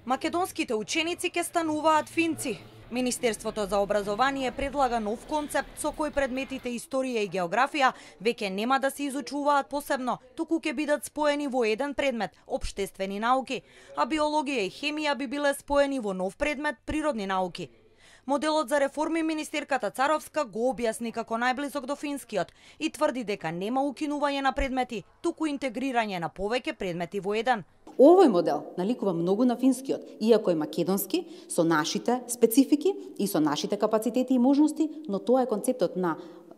Македонските ученици ќе стануваат финци. Министерството за образование предлага нов концепт со кој предметите историја и географија веќе нема да се изучуваат посебно, туку ќе бидат споени во еден предмет – општествени науки, а биологија и хемија би биле споени во нов предмет – природни науки. Моделот за реформи министерката Царовска го објасни како најблизок до финскиот и тврди дека нема укинување на предмети, туку интегрирање на повеќе предмети во еден. Овој модел наликува многу на финскиот, иако е македонски, со нашите специфики и со нашите капацитети и можности, но тоа е концептот на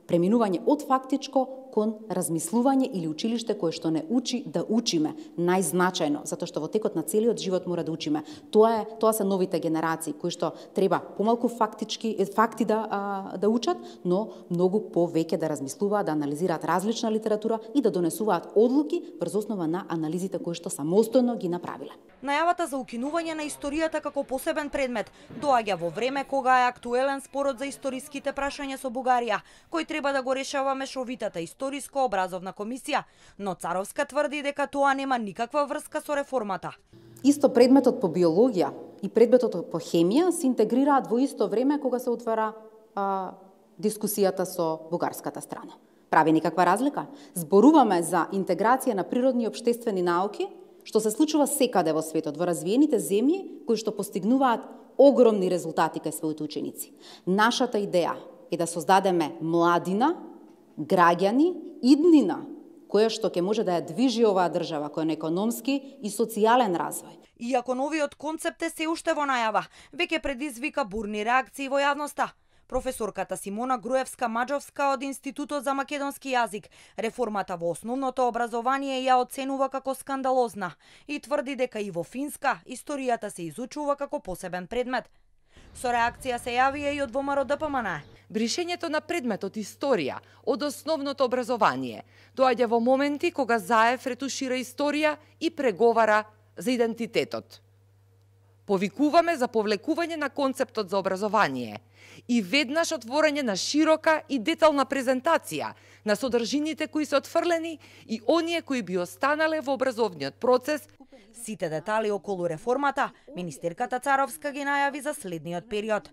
преминување од фактичко кон размислување или училиште кое што не учи да учиме најзначајно, затоа што во текот на целиот живот мора да учиме. Тоа се новите генерации кои што треба помалку факти да учат, но многу повеќе да размислуваат, да анализираат различна литература и да донесуваат одлуки врз основа на анализите кои што самостојно ги направиле. Најавата за укинување на историјата како посебен предмет доаѓа во време кога е актуелен спорот за историските прашања со Бугарија, кој треба да го решава мешовитата историјско-образовна комисија, но Царовска тврди дека тоа нема никаква врска со реформата. Исто предметот по биологија и предметот по хемија се интегрираат во исто време кога се отвара дискусијата со бугарската страна. Прави никаква разлика? Зборуваме за интеграција на природни и општествени науки, што се случува секаде во светот, во развиените земји кои што постигнуваат огромни резултати кај своите ученици. Нашата идеја е да создадеме младина, граѓани, иднина, која што ќе може да ја движи оваа држава кој на економски и социјален развој. Иако новиот концепт е се уште во најава, веќе предизвика бурни реакции во јавноста. Професорката Симона Груевска-Маџовска од Институтот за македонски јазик реформата во основното образование ја оценува како скандалозна и тврди дека и во Финска историјата се изучува како посебен предмет. Со реакција се јавија и од ВМРО ДПМН. Бришењето на предметот историја од основното образование доаѓа во моменти кога Заев ретушира историја и преговара за идентитетот. Повикуваме за повлекување на концептот за образование и веднаш отворање на широка и детална презентација на содржините кои се отфрлени и оние кои би останале во образовниот процес. Сите детали околу реформата министерката Царовска ги најави за следниот период.